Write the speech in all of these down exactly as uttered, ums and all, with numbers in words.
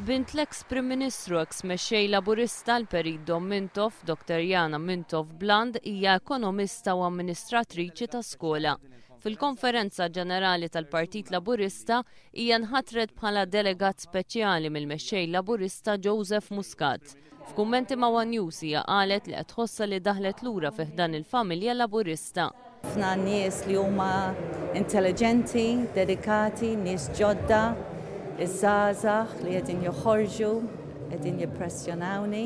Bint l-eks Prim Ministru, eks mexxej Laburista, l-Perit Dom Mintoff, Doktor Yana Mintoff Bland hija ekonomista u amministratriċi ta' skola. Fil-Konferenza Ġenerali tal-Partit Laburista hija nħatret bħala delegat speċjali mill-mexxej Laburista Joseph Muscat. F'kummenti ma' One News hija qalet li qed tħossha li daħlet lura fi ħdan il-familja Laburista. Ħafna nies li huma intelligenti, dedikati, nies ġodda, iż-żgħażagħ li qegħdin joħorġu, qegħdin jimpressjonawni.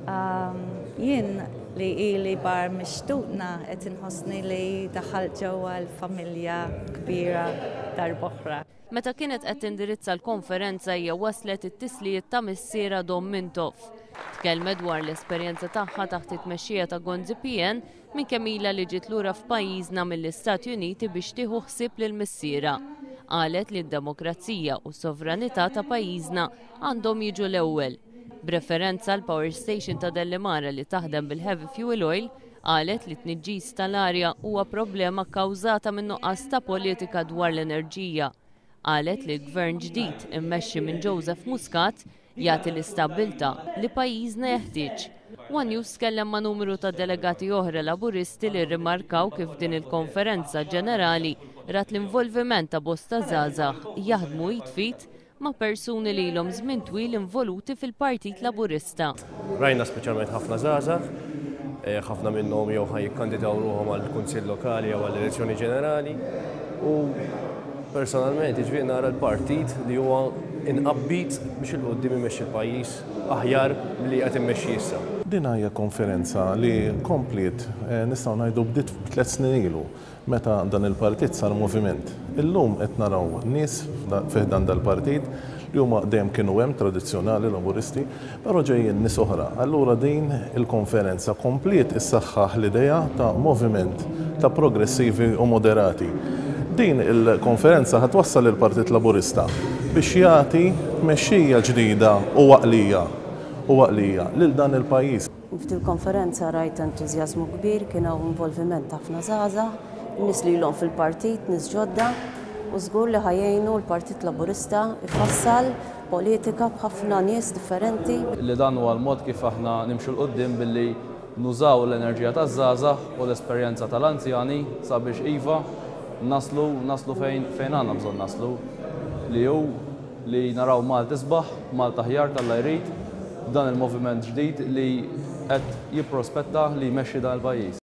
Um, jien li ili barra minn xtutna qed inħossni li daħalt ġewwa l-familja kbira darb'oħra. Meta kienet qed tindirizza l-konferenza, hija waslet it-tislijiet ta' missiera Dom Mintoff. Tkellmet dwar l-esperjenza tagħha taħt it-tmexxija ta' Gonzi P N minn kemm ilha li ġiet lura f'pajjiżna mill-Istati Uniti biex tieħu ħsieb lil missiera. Qalet li d-demokrazija u s-sovranità ta' pajjiżna għandhom jiġu l-ewwel. B'referenza l-power station ta' Delimara li taħdem bil-heavy fuel oil, qalet li t-tniġġis tal-arja huwa problema kkawżata minn nuqqas ta' politika dwar l-enerġija. Qalet li l-gvern ġdid immexxi minn Joseph Muscat jagħti l-istabbiltà li pajjiżna jeħtieġ. One News tkellem ma' numru ta' delegati oħra Laburisti li rrimarkaw kif din il-konferenza ġenerali rat l-involviment ta' bosta żgħażagħ jaħdmu id f'id ma' persuni li ilhom żmien twil involuti fil-Partit Laburista. Rajna speċjalment ħafna żgħażagħ, eh, ħafna minnhom jew ħa jikkandidaw ruħhom għall-Kunsill Lokali jew għall-elezzjoni ġenerali, u personalment ġifieri nara l-partit li huwa inqabbit biex 'il quddiem imexxi l-pajjiż aħjar milli qed immexxi issa. Din hija konferenza li kompliet, eh, nistgħu ngħidu, bdiet tliet snin ilu meta dan il-partit sar moviment. Illum qed naraw nies fi ħdan dal-partit li huma dejjem kienu hemm, tradizzjonali Laburisti, però ġejjin nies oħra. Allura din il-konferenza kompliet issaħħaħ l-idea ta' moviment ta' progressivi u moderati. Din il-konferenza ħa twassal il-Partit Laburista biex jagħti tmexxija ġdida u għaqlija u għaqlija lil dan il-pajjiż. F'dil konferenza rajt entużjażmu kbir, kien hawn involviment ħafna żgħażagħ, nies li ilhom fil-partit, nies ġodda, u żgur li ħa jgħinu l-Partit Laburista ifassal politika b'ħafna nies differenti. Li dan huwa l-mod kif aħna nimxu 'l quddiem, billi nużaw l-enerġija taż-żgħażagħ u l-esperjenza tal-anzjani sabiex iva naslu naslu fejn fejn għandna bżonn naslu, li hu li naraw Malta isbaħ, Malta aħjar t'Alla jrid, dan il-moviment ġdid li qed jipprospetta li jmexxi dan il-pajjiż.